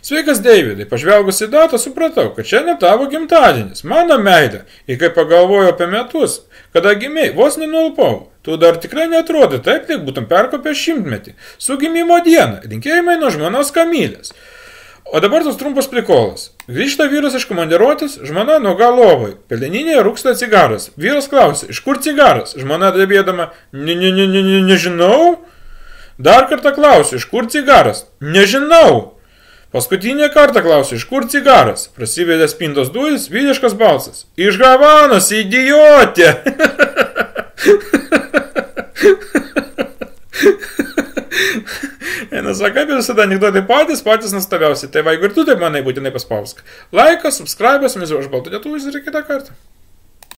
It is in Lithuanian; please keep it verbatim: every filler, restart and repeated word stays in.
Sveikas, Deividai, pažvelgus į datą supratau, kad šiandien tavo gimtadienis, mano meilė, ir kai pagalvojau apie metus, kada gimiai, vos nenulpau, tu dar tikrai neatrodai taip, lyg būtum perkopęs šimtmetį, su gimimo diena, linkėjimai nuo žmonos Kamilės. O dabar tas trumpas prikolas. Grįžta vyras iš komandiruotės, žmona nuoga lovai. Peleninėje rūksta cigaras. Vyras klausia, iš kur cigaras? Žmona drebėdama, ne, ne, ne, ne, ne, nežinau. Dar kartą klausia, iš kur cigaras? Nežinau. Paskutinį kartą klausia, iš kur cigaras? Prasivedė spintos duris, vyriškas balsas. Iš Havanos, idiotė. Nesaka, kaip visada anekdotai patys, patys nustabiausi. Tai va, jeigu ir tu taip manai, būtinai paspausk. Laikas, subscribe, mes jau aš baltų lietuvis ir kitą kartą.